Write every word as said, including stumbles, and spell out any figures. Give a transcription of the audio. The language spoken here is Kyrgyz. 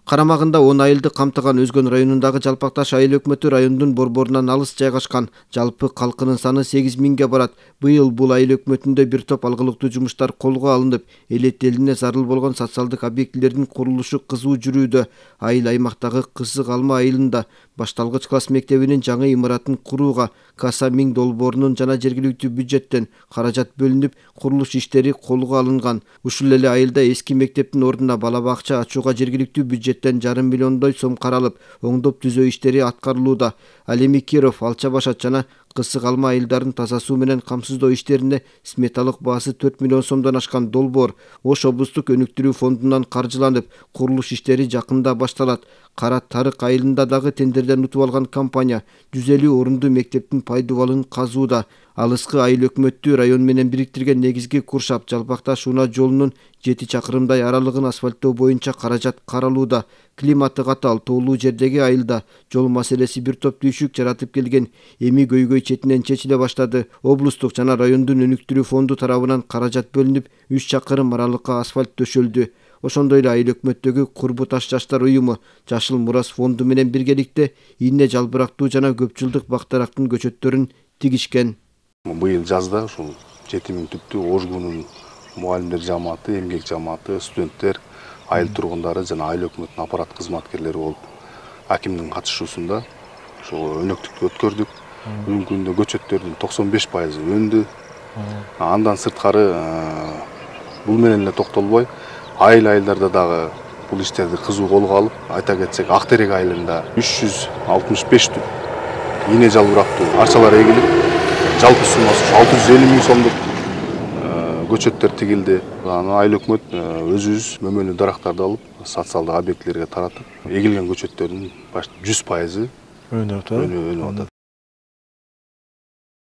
Карамагында он айылды камтыган Өзгөн районундагы Жалпакташ айыл өкмөтү райондун борборунан алыс жайгашкан. Жалпы калкынын саны сегиз миңге барат. Быйыл бул айыл өкмөтүндө бир топ алгылыктуу жумуштар колго алынып, элет элине зарыл болгон социалдык объектилердин курулушу кызуу жүрүүдө. Айыл аймактагы Кысык Алма айылында башталгыч класс мектебинин жаңы имаратын курууга Каса миң долбоорунун жана жергиликтүү бюджеттен каражат бөлүнүп, курулуш иштери колго алынган. Ушул эле айылда эски мектептин ордуна бала бакча ачууга жергиликтүү бюджеттен жарым миллиондой сом каралып, оңдоп түзөө иштери аткарылууда. Ал эми Киров, Алча Башат жана Кысык Алма айылдарын таза суу менен камсыздоо иштерине сметалык баасы төрт миллион сомдон ашкан долбоор Ош облустук өнүктүрүү фондунан каржыланып, курулуш иштери жакында башталат. Кара Тарык айылында дагы тендерден утуп алган компания жүз элүү орунду мектептин пайдубалын казууда. Алыскы айыл өкмөттү район менен бириктирген негизги куршап Жалпакташ Унаа жолунун жети чакырымдай аралыгын асфальттоо боюнча каражат каралууда. Климаты катал, тоолуу жердеги айылда жол маселеси бир топ түйшүк жаратып келген. Эми көйгөй четинен чечиле баштады. Облустук жана райондун өнүктүрүү фонду тарабынан каражат бөлүнүп, үч чакырым аралыкка асфальт төшөлдү. Ошондой эле айыл өкмөттөгү Курбу Таш жаштар уюму Жашыл Мурас фонду менен биргеликте ийне жалбырактуу жана көп жылдык бактарактын көчөттөрүн тигишкен. Быйыл жазда ушул жети миң түптүү Ожгунун мугалимдер жамааты, эмгек жамааты, студенттер, айыл тургундары жана айыл өкмөтүнүн аппарат кызматкерлери болуп, акимдин катышуусунда ушул өнөктүктү өткөрдүк. Бүгүнкү күндө көчөттөрдүн токсон беш пайызы өндү. Андан сырткары бул менен эле токтолбой, айыл айылдарда дагы бул иштерди кызуу колго алып, айта кетсек, Ак Терек айылында үч жүз алтымыш беш түп ийне жалбырактуу арчалар эгилип, жалпы суммасы алты жүз элүү миң сомдук көчөттөр тигилди. Аны айыл өкмөт өзүбүз мөмөлүү дарактарды алып, социалдык объектилерге таратып, эгилген көчөттөрдүн жүз пайызы өнүп атат.